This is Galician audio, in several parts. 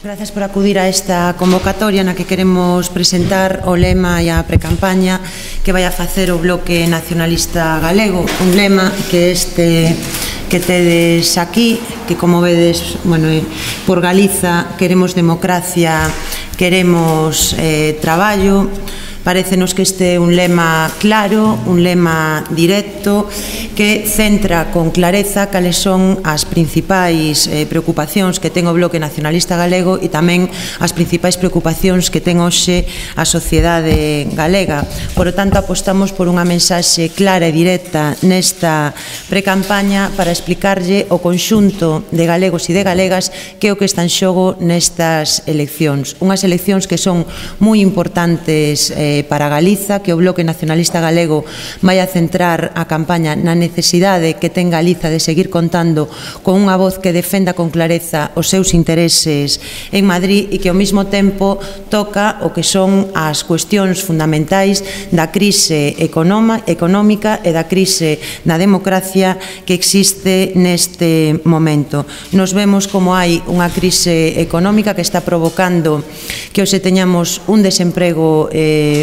Grazas por acudir a esta convocatoria na que queremos presentar o lema e a precampaña que vai a facer o Bloque Nacionalista Galego. Un lema que que tedes aquí, que como vedes, por Galiza queremos democracia, queremos traballo. Parécenos que este é un lema claro, un lema directo, que centra con clareza cales son as principais preocupacións que ten o Bloque Nacionalista Galego e tamén as principais preocupacións que ten hoxe a sociedade galega. Por lo tanto, apostamos por unha mensaxe clara e directa nesta precampaña para explicarlle o conxunto de galegos e de galegas que é o que está en xogo nestas eleccións. Unhas eleccións que son moi importantes para Galiza, que o Bloque Nacionalista Galego vai a centrar a campaña na necesidade que ten Galiza de seguir contando con unha voz que defenda con clareza os seus intereses en Madrid e que ao mesmo tempo toca o que son as cuestións fundamentais da crise económica e da crise na democracia que existe neste momento. Nos vemos como hai unha crise económica que está provocando que hoxe teñamos un desemprego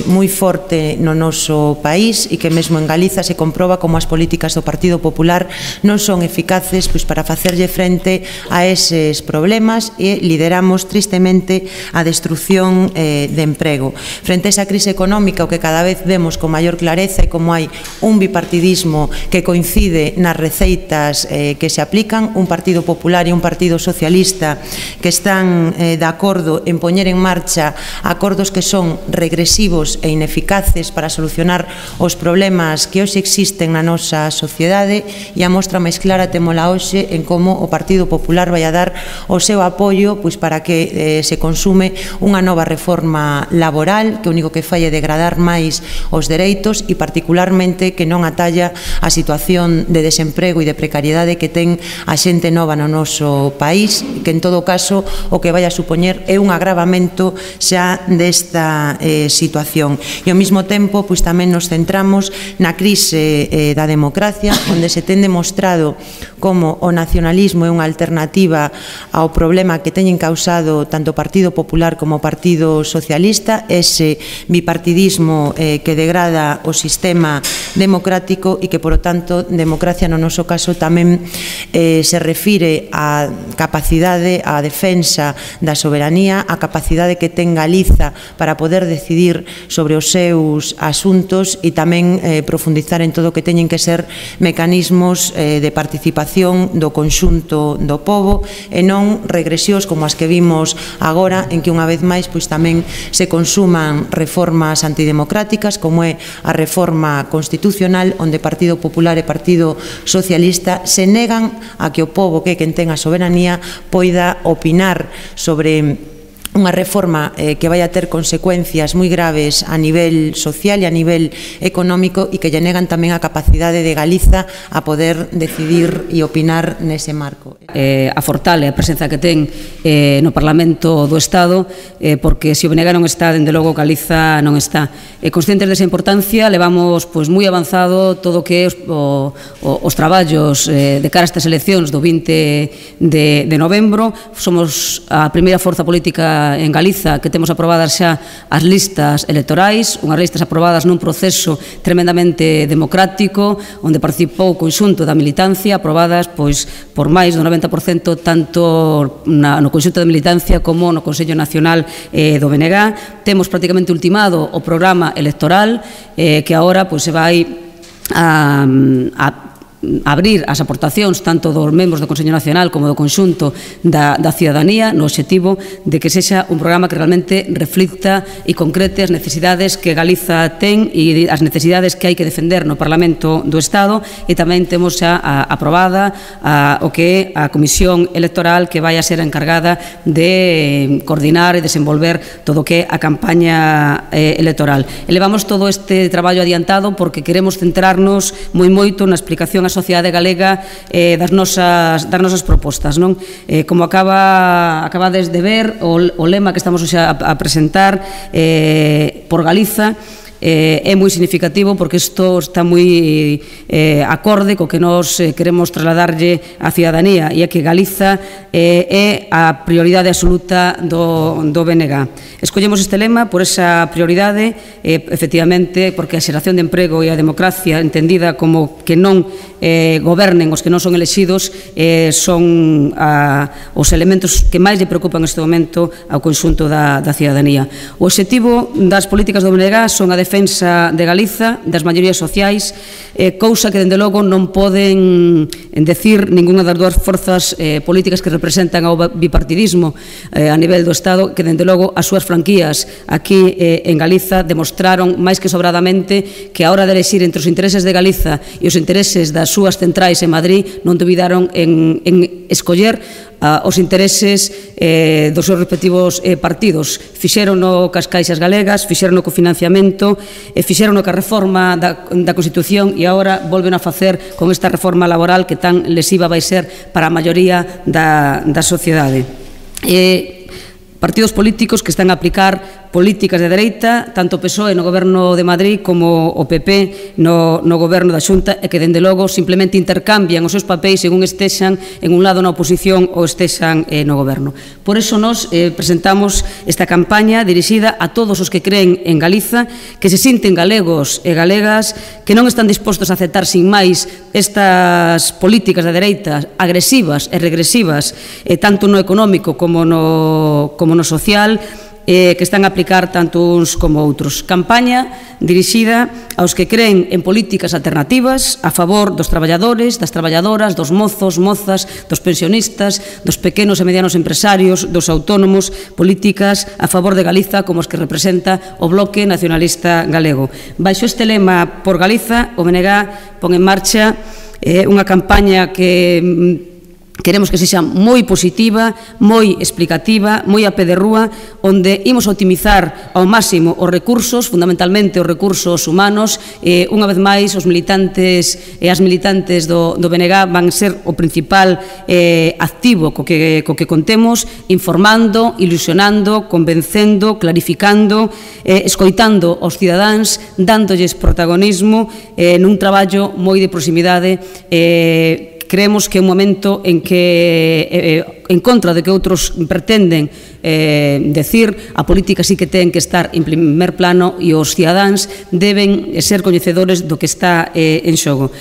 moi forte no noso país e que mesmo en Galiza se comproba como as políticas do Partido Popular non son eficaces para facerlle frente a eses problemas e lideramos tristemente a destrucción de emprego. Frente a esa crise económica, o que cada vez vemos con maior clareza é como hai un bipartidismo que coincide nas receitas que se aplican, un Partido Popular e un Partido Socialista que están de acordo en poñer en marcha acordos que son regresivos e ineficaces para solucionar os problemas que hoxe existen na nosa sociedade, e a mostra máis clara temola hoxe en como o Partido Popular vai a dar o seu apoio para que se consume unha nova reforma laboral que o único que fai é degradar máis os dereitos e particularmente que non atalla a situación de desemprego e de precariedade que ten a xente nova no noso país, que en todo caso o que vai a supoñer é un agravamento xa desta situación. E ao mesmo tempo tamén nos centramos na crise da democracia, onde se ten demostrado como o nacionalismo é unha alternativa ao problema que teñen causado tanto o Partido Popular como o Partido Socialista, ese bipartidismo que degrada o sistema democrático e que, por lo tanto, democracia no noso caso tamén se refire á capacidade, á defensa da soberanía, á capacidade que ten Galiza para poder decidir sobre os seus asuntos e tamén profundizar en todo o que teñen que ser mecanismos de participación do conxunto do pobo e non regresións como as que vimos agora, en que unha vez máis tamén se consuman reformas antidemocráticas como é a reforma constitucional, onde Partido Popular e Partido Socialista se negan a que o pobo, que é quen ten a soberanía, poida opinar sobre unha reforma que vai a ter consecuencias moi graves a nivel social e a nivel económico e que lle negan tamén a capacidade de Galiza a poder decidir e opinar nese marco. A fortale a presenza que ten no Parlamento do Estado, porque se o Benegas non está, dende logo Galiza non está. Conscientes desa importancia, levamos moi avanzado todo o que é os traballos de cara a estas eleccións do 20 de novembro. Somos a primeira forza política en Galiza que temos aprobadas xa as listas electorais, unhas listas aprobadas nun proceso tremendamente democrático, onde participou o conxunto da militancia, aprobadas por máis do 90% tanto no conxunto da militancia como no Consello Nacional do BNG. Temos prácticamente ultimado o programa electoral que agora se vai a abrir as aportacións tanto dos membros do Consello Nacional como do conxunto da cidadanía no obxectivo de que sexa un programa que realmente reflicta e concrete as necesidades que Galiza ten e as necesidades que hai que defender no Parlamento do Estado, e tamén temos xa aprobada o que é a Comisión Electoral que vai a ser a encargada de coordinar e desenvolver todo o que é a campaña electoral. Elevamos todo este traballo adiantado porque queremos centrarnos moito na explicación sociedade galega das nosas propostas. Como acabades de ver, o lema que estamos a presentar por Galiza é moi significativo porque isto está moi acorde co que nos queremos trasladarlle á cidadanía, e é que Galiza é a prioridade absoluta do BNG. Escollemos este lema por esa prioridade, efectivamente, porque a xeración de emprego e a democracia entendida como que non gobernen os que non son elexidos son os elementos que máis lle preocupan neste momento ao conxunto da cidadanía. O obxectivo das políticas do BNG son a defensa de Galiza, das maiorías sociais, cousa que, dende logo, non poden decir ninguna das dúas forzas políticas que representan ao bipartidismo a nivel do Estado, que, dende logo, as súas franquías aquí en Galiza demostraron máis que sobradamente que a hora de elegir entre os intereses de Galiza e os intereses das súas centrais en Madrid non dubidaron en escoller os intereses dos seus respectivos partidos. Fixeron no cas caixas galegas, fixeron no cofinanciamento, fixeron no ca reforma da Constitución e agora volven a facer con esta reforma laboral que tan lesiva vai ser para a maioría da sociedade. Partidos políticos que están a aplicar políticas de dereita, tanto o PSOE no goberno de Madrid como o PP no goberno da Xunta, e que, dende logo, simplemente intercambian os seus papéis según estexan en un lado na oposición ou estexan no goberno. Por iso nos presentamos esta campaña dirixida a todos os que creen en Galiza, que se sinten galegos e galegas, que non están dispostos a aceptar sin máis estas políticas de dereita agresivas e regresivas, tanto no económico como no social, que están a aplicar tanto uns como outros. Campaña dirixida aos que creen en políticas alternativas a favor dos traballadores, das traballadoras, dos mozos, mozas, dos pensionistas, dos pequenos e medianos empresarios, dos autónomos, políticas a favor de Galiza como os que representa o Bloque Nacionalista Galego. Baixo este lema por Galiza, o BNG pon en marcha unha campaña que queremos que sexa moi positiva, moi explicativa, moi a pé de rúa, onde imos optimizar ao máximo os recursos, fundamentalmente os recursos humanos. Unha vez máis, os militantes e as militantes do BNG van ser o principal activo co que contemos, informando, ilusionando, convencendo, clarificando, escoitando aos cidadáns, dándolles protagonismo nun traballo moi de proximidade. Creemos que é un momento en que, en contra de que outros pretenden decir, a política sí que ten que estar en primer plano e os cidadáns deben ser coñecedores do que está en xogo.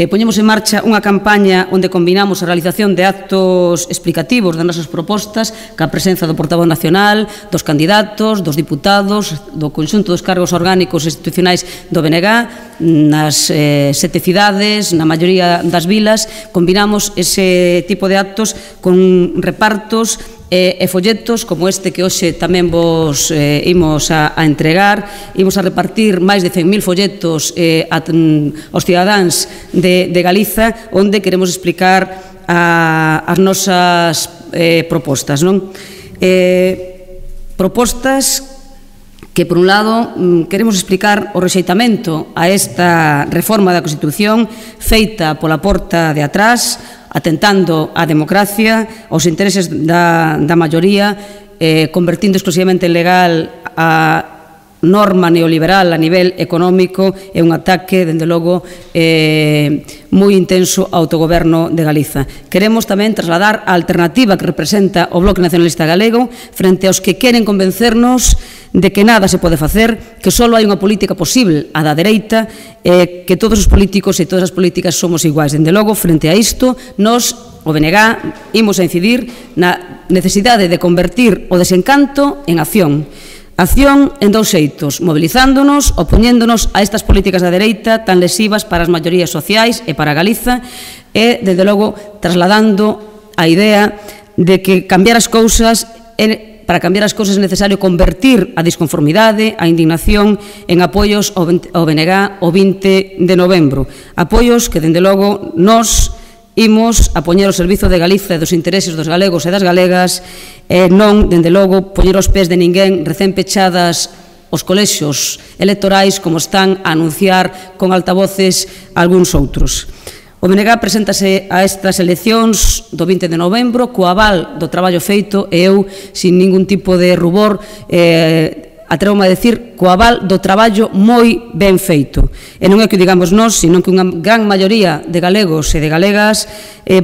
Poñemos en marcha unha campaña onde combinamos a realización de actos explicativos das nosas propostas ca presenza do portavoz nacional, dos candidatos, dos diputados, do conxunto dos cargos orgánicos institucionais do BNG, nas 7 cidades, na maioría das vilas. Combinamos ese tipo de actos con repartos e folletos como este que hoxe tamén vos imos a entregar. Imos a repartir máis de 100.000 folletos aos cidadáns de Galiza, onde queremos explicar as nosas propostas. Propostas que, por un lado, queremos explicar o rexeitamento a esta reforma da Constitución feita pola porta de atrás, atentando á democracia, aos intereses da maioría, convertindo exclusivamente en legal a norma neoliberal a nivel económico, é un ataque, dende logo, moi intenso ao autogoberno de Galiza. Queremos tamén trasladar a alternativa que representa o Bloque Nacionalista Galego frente aos que queren convencernos de que nada se pode facer, que só hai unha política posible, a da dereita, que todos os políticos e todas as políticas somos iguais. Dende logo, frente a isto, nos, o BNG, imos a incidir na necesidade de convertir o desencanto en acción. Acción en dous xeitos, mobilizándonos, opoñéndonos a estas políticas da dereita tan lesivas para as maiorías sociais e para Galiza, e, desde logo, trasladando a idea de que cambiar as cousas para cambiar as cousas é necesario convertir a disconformidade, a indignación en apoios ao BNG o 20 de novembro. Apoios que, dende logo, nos imos a poñer ao servizo de Galiza e dos intereses dos galegos e das galegas, non, dende logo, poñer os pés de ninguén recén pechadas os colexios electorais como están a anunciar con altavoces algúns outros. O BNG preséntase a estas eleccións do 20 de novembro co aval do traballo feito e eu, sin ningún tipo de rubor, atrevo-me a decir, co aval do traballo moi ben feito. E non é que o digamos nós, sino que unha gran maioría de galegos e de galegas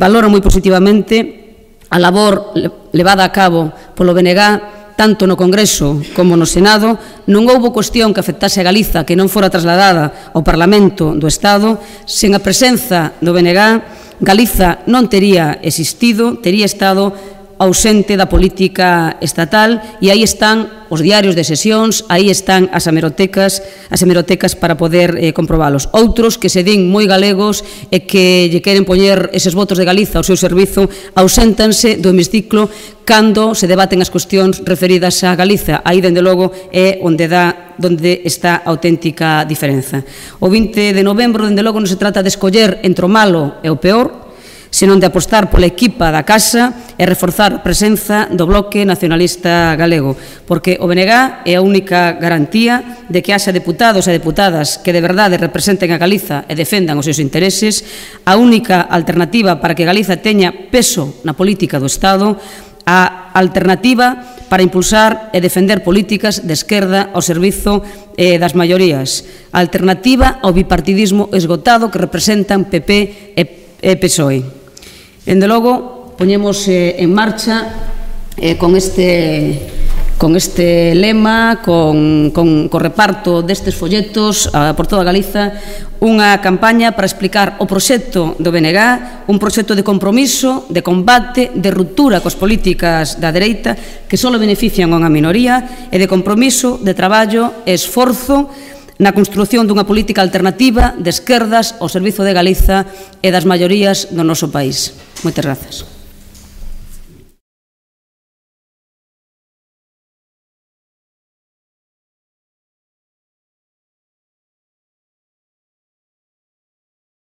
valoran moi positivamente a labor levada a cabo polo BNG, tanto no Congreso como no Senado. Non houbo cuestión que afectase a Galiza que non fora trasladada ao Parlamento do Estado. Sen a presenza do BNG, Galiza non tería existido, tería estado ausente da política estatal, e aí están os diarios de sesións, aí están as hemerotecas para poder comprobalos. Outros que se din moi galegos e que lle queren poñer eses votos de Galiza ao seu servizo auséntanse do hemiciclo cando se debaten as cuestións referidas a Galiza. Aí, dende logo, é onde está a auténtica diferenza. O 20 de novembro, dende logo, non se trata de escoller entre o malo e o peor, senón de apostar pola equipa da casa e reforzar a presenza do Bloque Nacionalista Galego, porque o BNG é a única garantía de que haxa deputados e deputadas que de verdade representen a Galiza e defendan os seus intereses, a única alternativa para que Galiza teña peso na política do Estado, a alternativa para impulsar e defender políticas de esquerda ao servizo das maiorías, a alternativa ao bipartidismo esgotado que representan PP e PSOE. Dende logo, poñemos en marcha con este lema, co reparto destes folletos por toda Galiza, unha campaña para explicar o proxecto do BNG, un proxecto de compromiso, de combate, de ruptura coas políticas da dereita que só benefician a unha minoría, e de compromiso, de traballo e esforzo na construción dunha política alternativa de esquerdas ao servizo de Galiza e das maiorías do noso país. Moitas grazas.